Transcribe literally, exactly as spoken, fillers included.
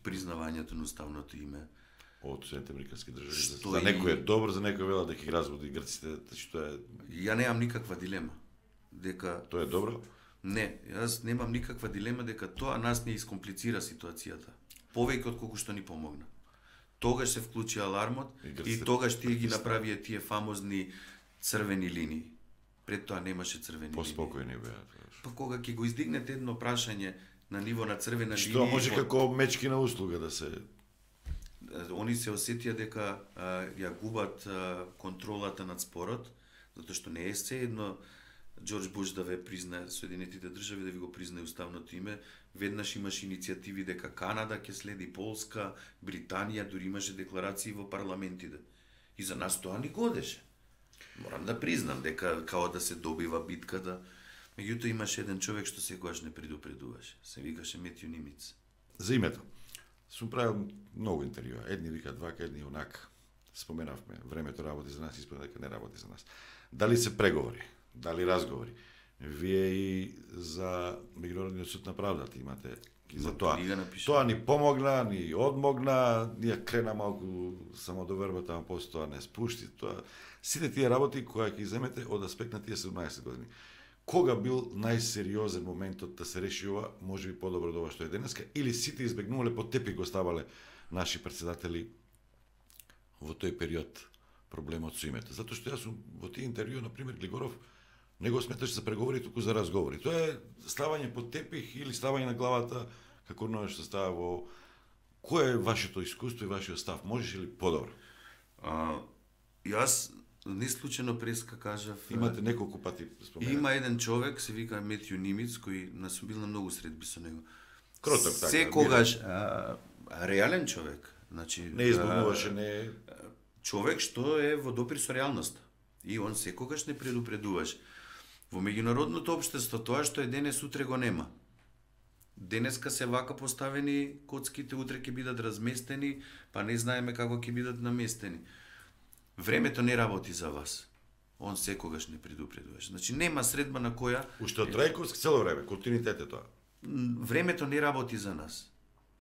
признавањето на уставното име од Соединените американски држави. Што За и- некој е добро, за некој вела дека ги разводи грците, што е Ја немам никаква дилема дека тоа е добро. не, јас немам никаква дилема дека тоа нас не искомплицира ситуацијата. Повеќе од колку што ни помогна. Тогаш се вклучи алармот И и, грците тогаш тие ги притисна. направија тие фамозни црвени линии. Пред тоа немаше црвени линии. Поспокојни беа. Па кога ќе го издигнете едно прашање на ниво на црвена линија, Што може во- како мечкина услуга да се они се осетија дека а, ја губат а, контролата над спорот, затоа што не е се едно Џорџ Буш да ве признае Соединетите држави, да ви го признае уставното име. Веднаш имаше иницијативи дека Канада ќе следи, Полска, Британија, дури имаше декларации во парламентите. И за нас тоа ни годеше. Морам да признам дека као да се добива битката. Меѓутоа имаше еден човек што секогаш не предупредуваше. Се викаше Метју Нимиц. за името. Сум правил многу интервјуа. Едни викаат вака, едни онака. Споменавме, времето работи за нас, испадна дека не работи за нас. Дали се преговори, дали разговори? Вие и за Меѓународниот суд на правдата имате и за Има тоа. книга напишана. Тоа ни помогна, ни одмогна, ние крена малку самодовербата, ама после тоа не спушти. Тоа сите тие работи кои ќе земете од аспект на тие седумнаесет години. Кога бил најсериозен моментот да се реши ова, може би подобро од ова што е денеска, или сите избегнувале под тепих го ставале наши председатели во тој период проблемот со името. Затоа што јас сум во тие интервјуи, на пример, Глигоров не го сметаш за преговори, туку за разговори. Тоа е ставање под тепих или ставање на главата, како оно што става во... Кој е вашето искуство и вашиот став? Можеш ли подобро? А, јас не случајно преска кажав... Имате неколку пати споменати. Има еден човек, се вика Метју Нимиц, кој нас сум бил на многу средби со него. Кроток, така, Секогаш а, реален човек. Значи, Не избунуваше, не... човек што е во допир со реалноста. И он секогаш не предупредуваше. Во меѓународното општество тоа што е денес утре го нема. Денеска се вака поставени коцките, утре ќе бидат разместени, па не знаеме како ќе бидат наместени. Времето не работи за вас. Он секогаш не предупредуваше. Значи нема средба на која Уште од Трајковски цело време, континуитет е тоа. м, времето не работи за нас.